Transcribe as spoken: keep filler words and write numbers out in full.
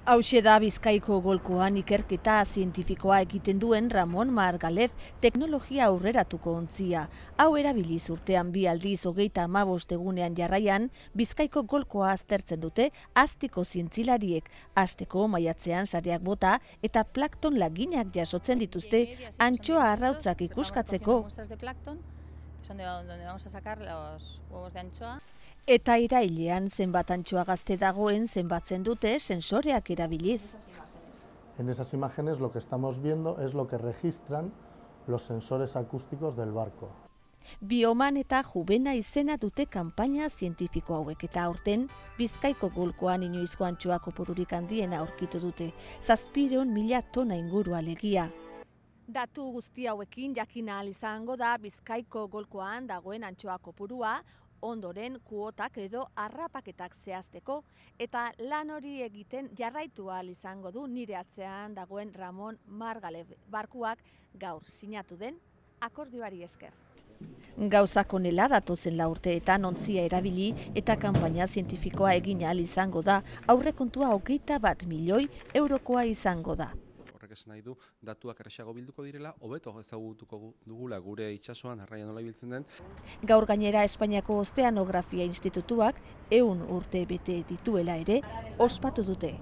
Hauxe da Bizkaiko golkoan ikerketa zientifikoa egiten duen Ramon Margalef teknologia aurreratuko ontzia. Hau erabiliz urtean bi aldiz hogeita hamabost egunean jarraian, Bizkaiko golkoa aztertzen dute aztiko zientzilariek, asteko maiatzean sareak bota eta plankton laginak jasotzen dituzte antxoa arrautzak ikuskatzeko. Eta irailean zenbat antxoa gazte dagoen zenbatzen dute sensoreak erabiliz. En esas imágenes lo que estamos viendo es lo que registran los sensores acústicos del barco. Bioman eta Jubena izena dute kanpaina zientifiko hauek eta aurten Bizkaiko golkoan inoizko antxoa kopururik handiena aurkitu dute, zazpiehun mila tona inguru alegia. Datu guzti hauekin jakin ahal izango da Bizkaiko golkoan dagoen antxoa kopurua, ondoren kuotak edo harrapaketak zehazteko, eta lan hori egiten jarraitu ahal izango du nire atzean dagoen Ramon Margalef barkuak gaur sinatu den akordioari esker. Gauzak honela datozen lau urteetan ontzia erabili eta kanpaina zientifikoa egin ahal izango da, aurrekontua hogeita bat milioi eurokoa izango da. Horrek esan nahi du, datuak erraxago bilduko direla, hobeto ezagutuko dugula gure itsasoan arraia nola ibiltzen den. Gaur gainera Espainiako Ozeanografia Institutuak ehun urte bete dituela ere ospatu dute.